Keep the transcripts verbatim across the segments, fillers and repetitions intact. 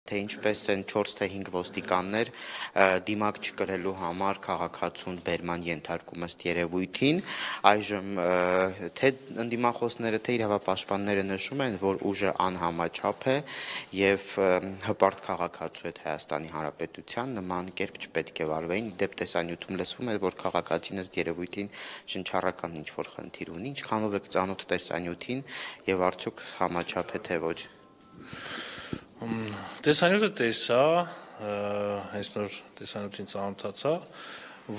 թե ինչպես են չորս թե հինգ ոստիկաններ դիմակ չկրելու համար քաղաքացուն բերման ենթարկում ըստ երևույթին, այժմ թե ընդդիմախոսները, թե իրավապաշտպանները նշում են, որ ուժը անհամաչափ է եւ հպարտ քաղաքացու հետ Հայաստանի Հանրապետության նման կերպ չպետք է վարվեին, դեպ տեսանյութում լսվում է, որ քաղաքացին ըստ երևույթին շնչառական ինչ-որ խնդիր ունի, ինչքանով եք ծանոթ տեսանյութին եւ արդյոք համաչափ է թե ոչ։ Տեսանյութը տեսա, հենց նոր տեսանյութին ծանոթացա,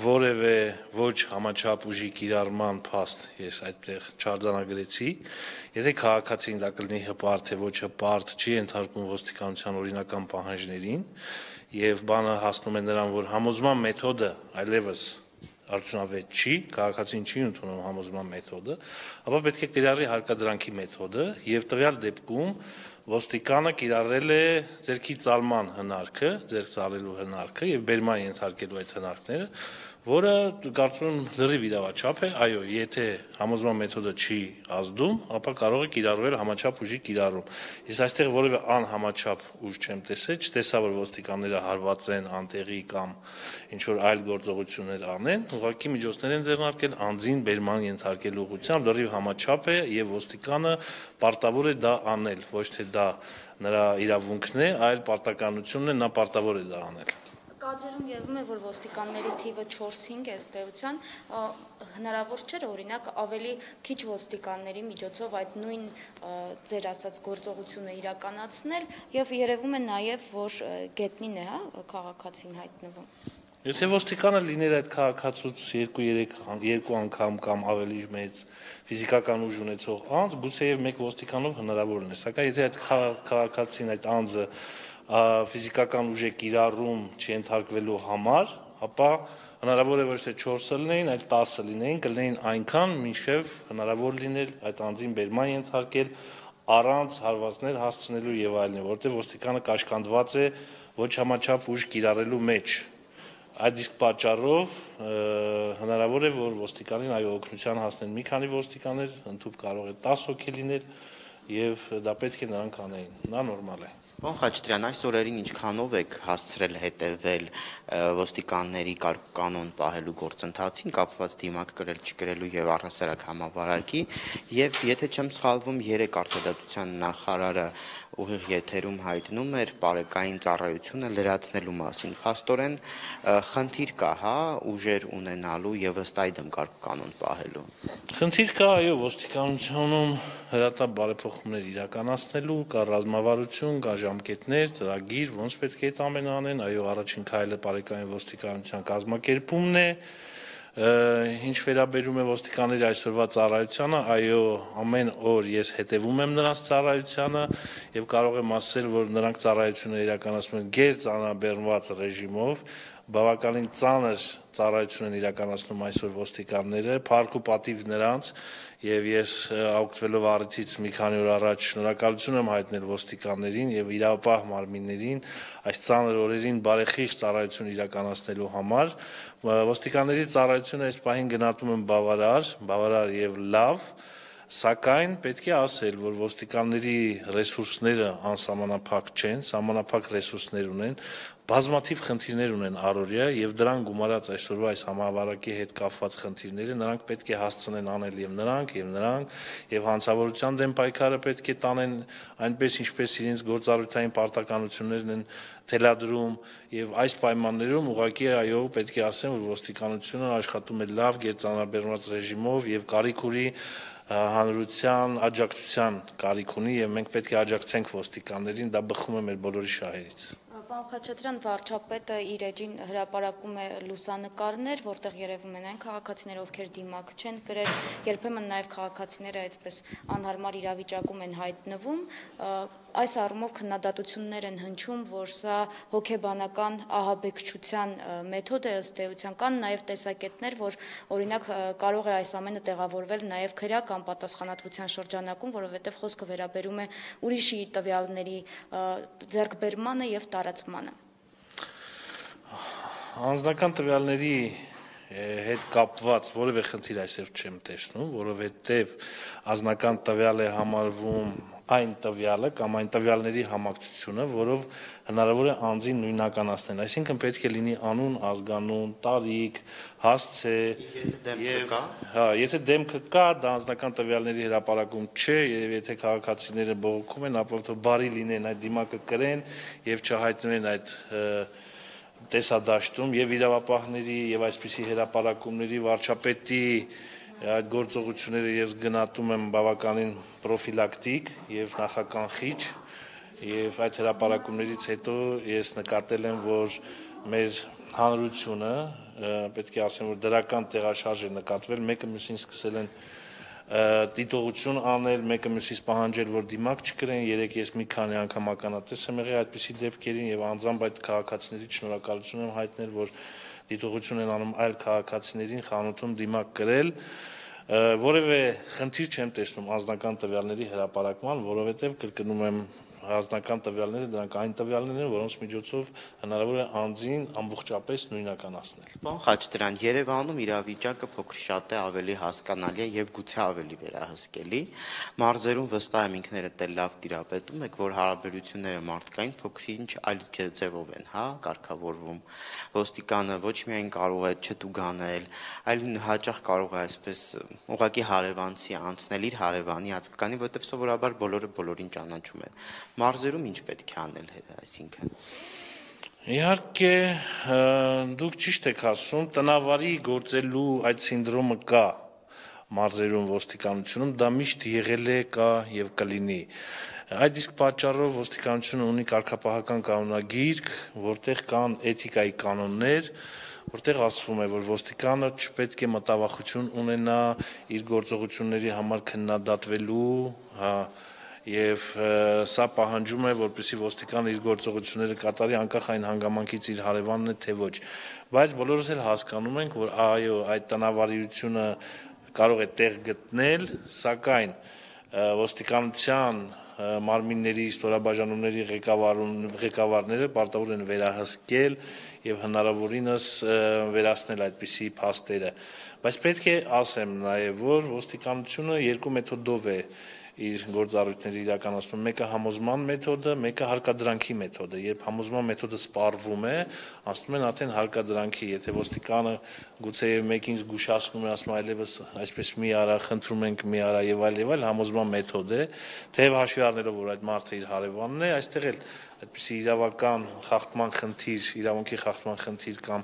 որևէ ոչ համաչափ ուժի կիրառման փաստ ես այդտեղ չարձանագրեցի, եթե քաղաքացին դա կլինի հպարտ թե ոչ հպարտ, չի ենթարկվում ոստիկանության օրինական պահանջներին եւ բանը հասնում է նրան, որ համոզման մեթոդը այլևս արդյունավետ չի, քաղաքացին չի ընդունում համոզման մեթոդը, ապա պետք է կիրառի հարկադրանքի մեթոդը եւ տվյալ դեպքում ոստիկանը կիրառել է ձեռքի ծալման հնարքը, ձեռք ծալելու հնարքը եւ բերման ենթարկելու այդ հնարքները, որը կարծում եմ լրիվ իրավաչափ է, այո, եթե համոզման մեթոդը չի ազդում, ապա կարող է կիրառվել համաչափ ուժի կիրառում։ Ես այստեղ որևէ անհամաչափ ուժ չեմ տեսել, չտեսա, որ ոստիկանները հարվածեն անտեղի կամ ինչ որ այլ գործողություններ անեն, ուղղակի միջոցներ են ձեռնարկել անձին բերման ենթարկելու ուղղությամբ, լրիվ համաչափ է եւ ոստիկանը պարտավոր է դա անել, ոչ թե դա նրա իրավունքն է, այլ պարտականությունն է, նա պարտավոր է դա անել։ Կադրերում եղում է, որ ոստիկանների թիվը չորս-հինգ է ըստ էության, հնարավոր չէ, օրինակ ավելի քիչ ոստիկանների միջոցով այդ նույն ձեր ասած գործողությունը իրականացնել եւ երևում է նաեւ, որ գետնին է, հա, քաղաքացին հայտնվում։ Եթե ոստիկանը լիներ այդ քաղաքացուց երկու-երեք երկու անգամ կամ ավելի մեծ ֆիզիկական ուժ ունեցող անձ, գուցեև մեկ ոստիկանով հնարավոր է, սակայն եթե այդ քաղաքացին այդ անձը ֆիզիկական ուժ է կիրառում չենթարկվելու համար, ապա հնարավոր է ոչ թե չորսը լինեին, այլ տասը լինեին, կլինեին այնքան, մինչև հնարավոր լիներ այդ անձին բերման ենթարկել առանց հարվածներ հասցնելու եւ այլն, որտեղ ոստիկանը կաշկանդված է ոչ համաչափ ուժ կիրառելու մեջ։ Այդ իսկ պատճառով հնարավոր է, որ ոստիկանին այո օգնության հասնեն մի քանի ոստիկաններ, ընդհանուր կարող է տասը հոգի լինել եւ դա պետք է նրանք անեին, դա նորմալ է։ Պարոն Խաչատրյան, այս օրերին ինչքանով եք հասցրել հետևել ոստիկանների կանոն պահելու գործընթացին, կապված դիմակ կրել չկրելու եւ առհասարակ համավարակի, եւ եթե չեմ սխալվում, երեք արդարադատության նախարարը ուղիղ եթերում հայտնում էր բարեկային ծառայությունը լրացնելու մասին։ Փաստորեն խնդիր կա, հա, ուժեր ունենալու եւ ըստ այդմ կանոն պահելու։ Խնդիր կա, այո, ոստիկանությունում հրատապ բարեփոխումներ իրականացնելու, կա ռազմավարություն, կա ժամկետներ, ծրագիր, ոնց պետք է այդ ամենը անեն, այո, առաջին քայլը բարեկային ոստիկանության կազմակերպումն է, ինչ վերաբերում է ոստիկանների այսօրվա ծառայությանը, այո, ամեն օր ես հետևում եմ նրանց ծառայությանը եւ կարող եմ ասել, որ նրանք ծառայությունը իրականացնում են գերծանրաբեռնված ռեժիմով, բավականին ծանր ծառայություն են իրականացնում այսօր ոստիկանները, փառք ու պատիվ նրանց եւ ես օգտվելով առիթից մի քանի օր առաջ շնորհակալություն եմ հայտնել ոստիկաններին եւ իրավապահ մարմիններին այս ծանր օրերին բարեխիղճ ծառայություն իրականացնելու համար։ Ոստիկանների ծառայությունը այս պահին գնահատում եմ բավարար, բավարար եւ լավ, սակայն պետք է ասել, որ ոստիկանների ռեսուրսները անսահմանափակ չեն, սահմանափակ ռեսուրսներ ունեն, բազմաթիվ խնդիրներ ունեն առօրյա եւ դրան գումարած այսօրվա այս համավարակի հետ կապված խնդիրները նրանք պետք է հասցնեն անել եւ նրանք եւ նրանք եւ հանցավորության դեմ պայքարը պետք է տանեն այնպես ինչպես իրենց գործառույթային պարտականություններն են թելադրում եւ այս պայմաններում ուղղակի այո պետք է ասեմ, որ ոստիկանությունը աշխատում է լավ գերծանրաբեռնված ռեժիմով եւ կարիք ունի հանրության աջակցության կարիք ունի եւ մենք պետք է աջակցենք ոստիկաններին, դա բխում է մեր բոլորի շահերից։ Պարոն Խաչատրյան, վարչապետը իր էջին հրապարակում է լուսանկարներ, որտեղ երևում են այն քաղաքացիներ, ովքեր դիմակ չեն կրել, երբեմն նաև քաղաքացիները այսպես անհարմար իրավիճակում են հայտնվում։ Այս առումով քննադատություններ են հնչում, որ սա հոգեբանական ահաբեկչության մեթոդ է ըստ էության, կան նաև տեսակետներ, որ օրինակ կարող է այս ամենը տեղավորվել նաև քրեական պատասխանատվության շրջանակում, որովհետև խոսքը վերաբերում է ուրիշի տվյալների ձեռքբերմանը եւ տարածմանը։ Անձնական տվյալների հետ կապված որևէ խնդիր այսօր չեմ տեսնում, որովհետև անձնական տվյալ է համարվում այն տվյալը կամ այն տվյալների համակցությունը, որով հնարավոր է անձին նույնականացնել, այսինքն պետք է լինի անուն, ազգանուն, տարիք, հասցե, եւ հա, եթե դեմքը կա, դա անձնական տվյալների հրապարակում չէ, եւ եթե քաղաքացիները բողոքում են, ապա թող բարի լինեն այդ դիմակը կրեն եւ չհայտնեն այդ տեսադաշտում եւ իրավապահների եւ այսպիսի հրապարակումների վարչապետի այդ գործողությունները ես գնահատում եմ բավականին պրոֆիլակտիկ եւ նախականխիչ եւ այդ հրապարակումներից հետո ես նկատել եմ, որ մեր հանրությունը պետք է ասեմ, որ դրական տեղաշարժ է նկատվել, մեկը մյուսին սկսել են դիտողություն անել, մեկը մյուսից պահանջել, որ դիմակ չկրեն, երեք ես մի քանի անգամ ականատես եմ եղել այդպիսի դեպքերին եւ անձամբ այդ քաղաքացիների շնորհակալություն եմ հայտնել, որ դիտողություն են անում այլ քաղաքացիներին խանութում դիմակ կրել, որևէ խնդիր չեմ տեսնում անձնական տվյալների հրապարակման, որովհետեւ կրկնում եմ անձնական տվյալները դրանք այն տվյալներն են, որոնց միջոցով հնարավոր է անձին ամբողջապես նույնականացնել։ Պարոն Խաչատրյան, Երևանում իրավիճակը փոքր շատ է ավելի հասկանալի է եւ գուցե ավելի վերահսկելի։ Մարզերում վստահ եմ ինքներդ էլ լավ տիրապետում եք, որ հարաբերությունները մարդկային փոքր-ինչ այլ ձևով են, հա, կարգավորվում։ Ոստիկանը ոչ միայն կարող է չտուգանել, այլ հաճախ կարող է այսպես ուղղակի հարևանցի անցնել իր հարևանի ազգականի, որովհետեւ սովորաբար բոլորը բոլորին ճանաչում են։ Մարզերում ինչ պետք է անել, այսինքն։ Իհարկե, դուք ճիշտ եք ասում, տնավարի գործելու այդ սինդրոմը կա մարզերում ոստիկանությունում, դա միշտ եղել է, կա եւ կլինի։ Այդ իսկ պատճառով ոստիկանությունը ունի կարգապահական կանոնագիրք, որտեղ կան էթիկայի կանոններ, որտեղ ասվում է, որ ոստիկանը չպետք է մտավախություն ունենա իր գործողությունների համար քննադատվելու, հա, եւ սա պահանջում է, որպեսզի ոստիկանը իր գործողությունները կատարի անկախ այն հանգամանքից իր հարևանն է թե ոչ, բայց բոլորս էլ հասկանում ենք, որ այո, այդ տնավարիությունը կարող է տեղ գտնել, սակայն ոստիկանության մարմինների ստորաբաժանումների ղեկավարները պարտավոր են վերահսկել եւ հնարավորինս վերացնել այդպիսի փաստերը, բայց պետք է ասեմ նաեւ, որ ոստիկանությունը երկու մեթոդով է իր գործառույթները իրականացնում, մեկը համոզման մեթոդը, մեկը հարկադրանքի մեթոդը, երբ համոզման մեթոդը սպառվում է, ասում են արդեն հարկադրանքի, եթե ոստիկանը գուցեև մեկին զգուշացնում է, ասում այլևս այսպես մի արա, խնդրում ենք մի արա եւ այլ եւ այլ, համոզման մեթոդ է, թեև հաշվի առնելով, որ այդ մարդը իր հարևանն է, այստեղ էլ այդպիսի իրավական խախտման խնդիր, իրավունքի խախտման խնդիր կամ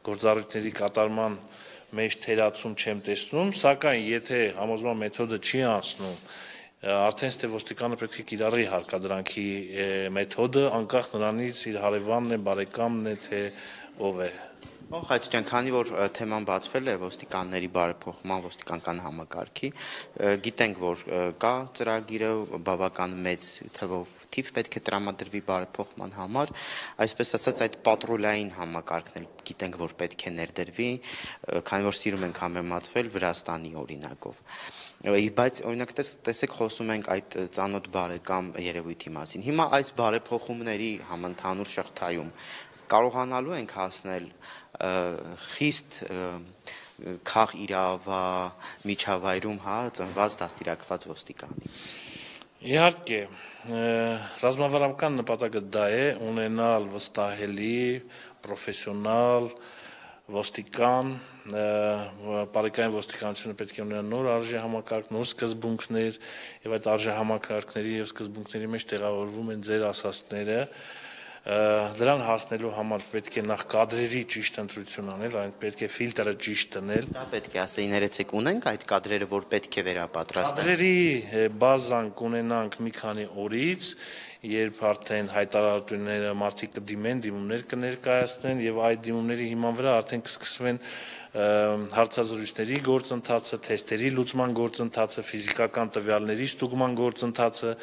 գործառույթների կատարման մեջ թերացում չեմ տեսնում, սակայն եթե համոզման մեթոդը չի անցնում, արդեն ստե ոստիկանը պետք է կիրառի հարկադրանքի մեթոդը, անկախ նրանից իր հարևանն է, բարեկամն է, թե ով է։ Պարոն Խաչատրյան, քանի որ թեման բացվել է ոստիկանների բարեփոխման ոստիկանական համակարգի, գիտենք, որ կա ծրագիրը բավական մեծ թվով թիվ պետք է տրամադրվի բարեփոխման համար, այսպես ասած այդ պատրոլային համակարգն էլ գիտենք, որ պետք է ներդրվի, քանի որ սիրում ենք համեմատվել Վրաստանի օրինակով։ Բայց օրինակ տեսեք խոսում ենք այդ ծանոթ բարեկամ երևույթի մասին։ Հիմա այս բարեփոխումների համընդհանուր շղթայում կարողանալու ենք հասնել խիստ քաղ իրավա միջավայրում, հա, ծնված դաստիարակված ոստիկանի։ Իհարկե, ռազմավարական նպատակը դա է ունենալ վստահելի, պրոֆեսիոնալ ոստիկան, բարեկային ոստիկանությունը պետք է ունենա նոր արժե համակարգ, նոր սկզբունքներ եւ այդ արժե համակարգների եւ սկզբունքների մեջ տեղավորվում են ձեր ասածները, դրան հասնելու համար պետք է նախ կադրերի ճիշտ ընտրություն անել, այն պետք է ֆիլտրը ճիշտ դնել։ Դա պետք է ասեին, ներեցեք ունենք այդ կադրերը, որ պետք է վերապատրաստեն։ Կադրերի բազան կունենանք մի քանի օրից, երբ արդեն հայտարարությունները մարդիկ կդիմեն, դիմումներ կներկայացնեն եւ այդ դիմումների հիման վրա արդեն կսկսվեն հարցազրույցների գործընթացը, թեստերի լուծման գործընթացը, ֆիզիկական տվյալների ստուգման գործընթացը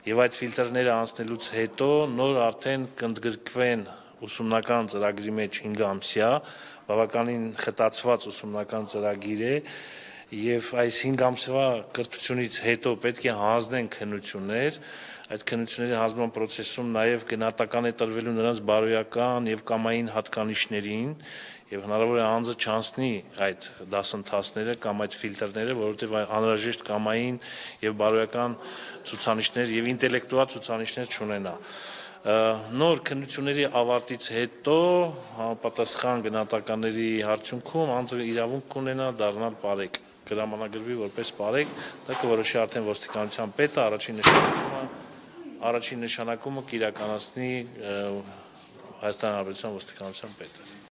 եւ այդ ֆիլտրները անցնելուց հետո նոր արդեն կընդգրկվեն ուսումնական ծրագրի մեջ հինգ ամսյա, բավականին խտացված ուսումնական ծրագիր է եւ այս հինգ ամսվա կրթությունից հետո պետք է հանձնեն քննություններ, այդ քննությունների հանձնման process-ում նաեւ գնահատական է տրվելու նրանց բարոյական եւ կամային հատկանիշներին եւ հնարավոր է անձը չանցնի այդ դասընթացները կամ այդ ֆիլտրները, որովհետեւ անհրաժեշտ կամային եւ բարոյական ցուցանիշներ եւ ինտելեկտուալ ցուցանիշներ չունենա։ Նոր քննությունների ավարտից հետո համապատասխան գնահատականների արդյունքում անձը իրավունք կունենա դառնալ բարեկ, կհրամանագրվի որպես բարեկ, դա կորոշի արդեն ոստիկանության պետը, առաջին նշանակումը առաջին նշանակումը կիրականացնի Հայաստանի Հանրապետության ոստիկանության պետը։